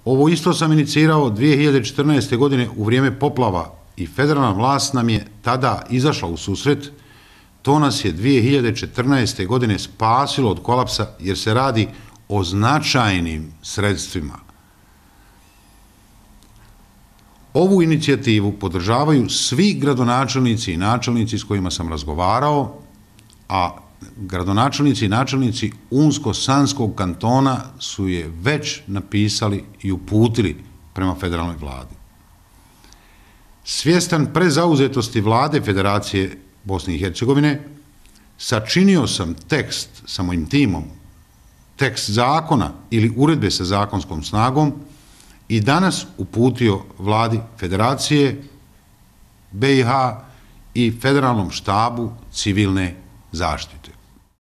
Ovo isto sam inicirao 2014. godine u vrijeme poplava i federalna vlast nam je tada izašla u susret. To nas je 2014. godine spasilo od kolapsa jer se radi o značajnim sredstvima. Ovu inicijativu podržavaju svi gradonačelnici i načelnici s kojima sam razgovarao, a gradonačelnici i načelnici Unsko-Sanskog kantona su je već napisali i uputili prema federalnoj vladi. Svjestan prezauzetosti vlade Federacije Bosne i Hercegovine, sačinio sam tekst sa mojim timom, tekst zakona ili uredbe sa zakonskom snagom i danas uputio vladi Federacije BiH i Federalnom štabu civilne zaštite.